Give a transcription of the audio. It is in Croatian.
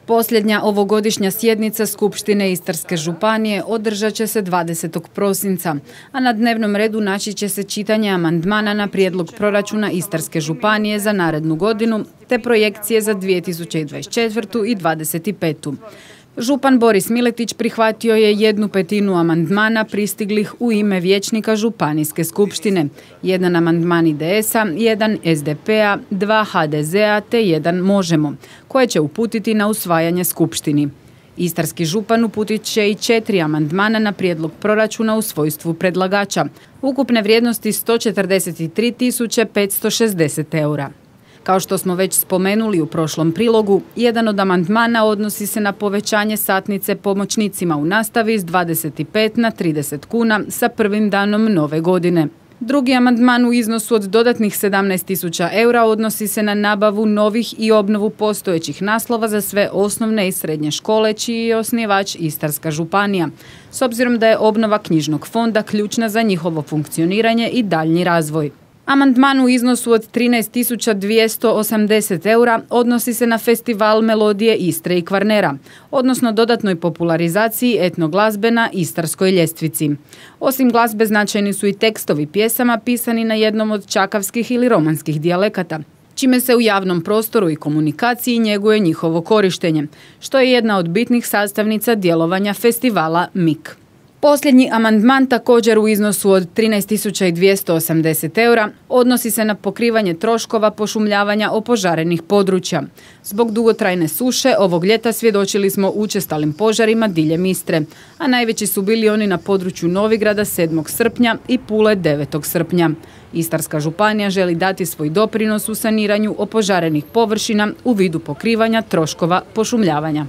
Posljednja ovogodišnja sjednica Skupštine Istarske županije održat će se 20. prosinca, a na dnevnom redu naći će se čitanje amandmana na prijedlog proračuna Istarske županije za narednu godinu te projekcije za 2024. i 2025. Župan Boris Miletić prihvatio je 1/5 amandmana pristiglih u ime vijećnika Županijske skupštine, 1 amandman IDS-a, 1 SDP-a, 2 HDZ-a te 1 Možemo, koje će uputiti na usvajanje skupštini. Istarski župan uputit će i 4 amandmana na prijedlog proračuna u svojstvu predlagača, ukupne vrijednosti 143.560 eura. Kao što smo već spomenuli u prošlom prilogu, jedan od amandmana odnosi se na povećanje satnice pomoćnicima u nastavi s 25 na 30 kuna sa prvim danom nove godine. Drugi amandman u iznosu od dodatnih 17.000 eura odnosi se na nabavu novih i obnovu postojećih naslova za sve osnovne i srednje škole čiji je osnivač Istarska županija, s obzirom da je obnova knjižnog fonda ključna za njihovo funkcioniranje i daljnji razvoj. Amandman u iznosu od 13.280 eura odnosi se na festival melodije Istre i Kvarnera, odnosno dodatnoj popularizaciji etnoglazbe na Istarskoj ljestvici. Osim glazbe značajni su i tekstovi pjesama pisani na jednom od čakavskih ili romanskih dijalekata, čime se u javnom prostoru i komunikaciji njeguje njihovo korištenje, što je jedna od bitnih sastavnica djelovanja festivala MIK. Posljednji amandman, također u iznosu od 13.280 eura, odnosi se na pokrivanje troškova pošumljavanja opožarenih područja. Zbog dugotrajne suše ovog ljeta svjedočili smo učestalim požarima diljem Istre, a najveći su bili oni na području Novigrada 7. srpnja i Pule 9. srpnja. Istarska županija želi dati svoj doprinos u saniranju opožarenih površina u vidu pokrivanja troškova pošumljavanja.